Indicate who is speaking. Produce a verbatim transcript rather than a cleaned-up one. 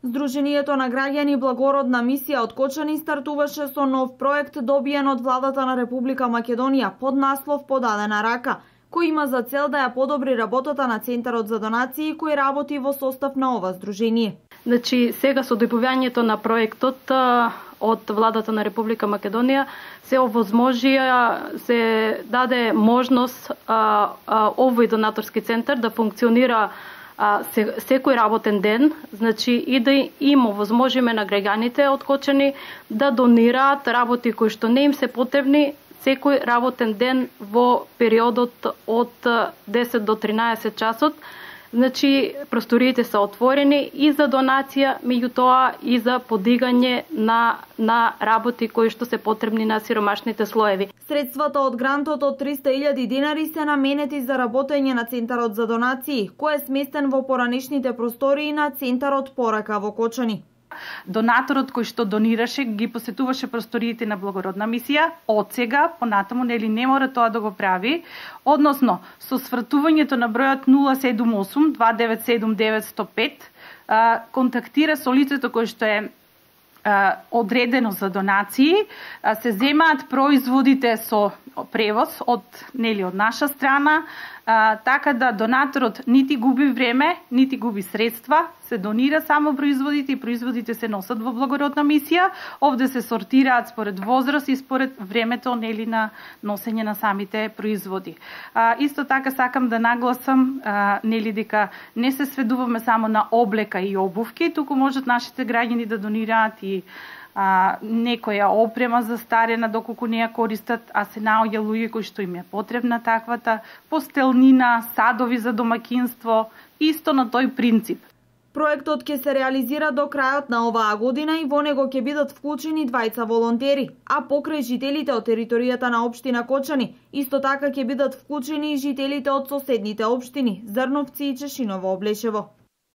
Speaker 1: Сдруженијето на граѓани Благородна мисија од Кочани стартуваше со нов проект добиен од владата на Република Македонија под наслов Подадена рака, кој има за цел да ја подобри работата на Центарот за донации кој работи во состав на ова здружение.
Speaker 2: Значи, сега со дојавувањето на проектот од владата на Република Македонија се овозможија, се даде можност а, а, овој донаторски центар да функционира а, се, секој работен ден, значи и да им овозможиме на граѓаните од Кочани да донираат работи кои што не им се потребни секој работен ден во периодот од десет до тринаесет часот. Значи, просториите се отворени и за донација, меѓутоа и за подигање на, на работи кои што се потребни на сиромашните слоеви.
Speaker 1: Средствата од грантот од триста илјади динари се наменети за работење на Центарот за донации, кој е сместен во поранешните простории на Центарот Порака во Кочани.
Speaker 3: Донаторот кој што донираше ги посетуваше просториите на Благородна мисија, од сега понатаму нели не мора тоа да го прави, односно со свртувањето на бројот нула седум осум два девет седум девет сто пет контактира со лицето кој што е одредено за донации, се земаат производите со превоз од нели од наша страна, а, така да донаторот нити губи време, нити губи средства, се донира само производите и производите се носат во Благородна мисија, овде се сортираат според возраст и според времето нели на носење на самите производи. А, исто така сакам да нагласам а, нели дека не се сведуваме само на облека и обувки, туку можат нашите граѓани да донираат и А, некоја опрема за старена доколку не ја користат, а се наоѓа луѓе кои што им е потребна таквата, постелнина, садови за домаќинство, исто на тој принцип.
Speaker 1: Проектот ќе се реализира до крајот на оваа година и во него ќе бидат вклучени двајца волонтери, а покрај жителите од територијата на општина Кочани, исто така ќе бидат вклучени и жителите од соседните општини Зрновци и Чешиново Облешево.